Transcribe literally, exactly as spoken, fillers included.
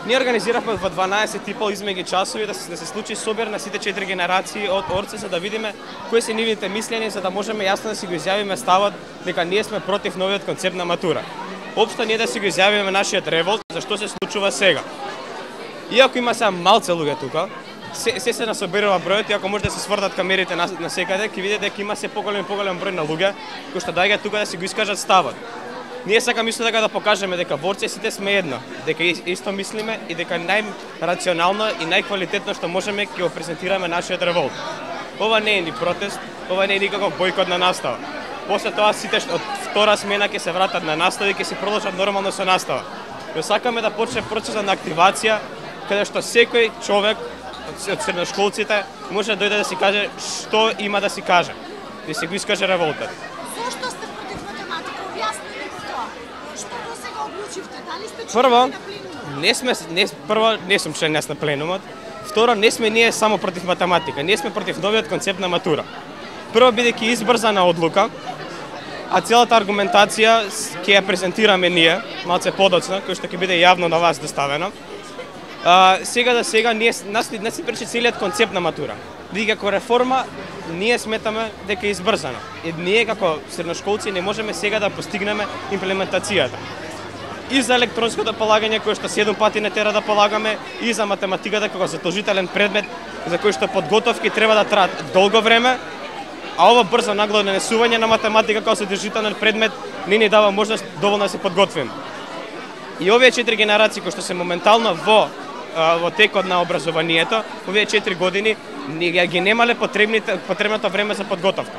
Ние организиравме во дванаесет и пол измеѓу часови да се, да се случи собир на сите четири генерации од Орце, за да видиме кои се нивните мислења, за да можеме јасно да си го изјавиме ставот дека ние сме против новиот концепт на матура. Општо ние да си го изјавиме нашиот револт за што се случува сега. Иако има сега малце луѓе тука, се се, се насобирува бројот и ако може да се свртат камерите на, на секаде, ќе видите дека има се поголем и поголем број на луѓе кои што доаѓаат тука да си го искажат ставот. Ние сакаме исто така да покажеме дека во Орце сите сме едно, дека исто мислиме и дека најрационално и најквалитетно што можеме ќе го презентираме нашиот револт. Ова не е ни протест, ова не е никаков бојкот на настава. После тоа сите од втора смена ќе се вратат на настава и ќе си продолжат нормално со настава. Ја сакаме да почне процесот на активација каде што секој човек од средношколците може да дојде да си каже што има да си каже, да си го искаже револтот. Зошто сте против математика? Објасни ми тоа. Што до сега одлучивте? Дали сте Прво, член на пленумот? не сме не прво не сум член на пленумот. Второ, не сме ние само против математика, ние сме против новиот концепт на матура. Прво, бидејќи избрзана одлука, а целата аргументација ќе ја презентираме ние, малце подоцна, кој што ќе биде јавно на вас доставено. А, сега да сега ние нас не се пречи целиот концепт на матура. Бидејќи како реформа ние сметаме дека е избрзано. И ние како средношколци не можеме сега да постигнеме имплементацијата. И за електронското полагање кој што седум пати не тера да полагаме, и за математиката како задолжителен предмет за кој што подготовки треба да траат долго време, а ова брзо нагло нанесување на математика како задолжителен предмет не ни дава можност доволно да се подготвиме. И овие четири генерации кои што се моментално во во текот на образованието, овие четири години, ние ги немале потребните потребното време за подготовка.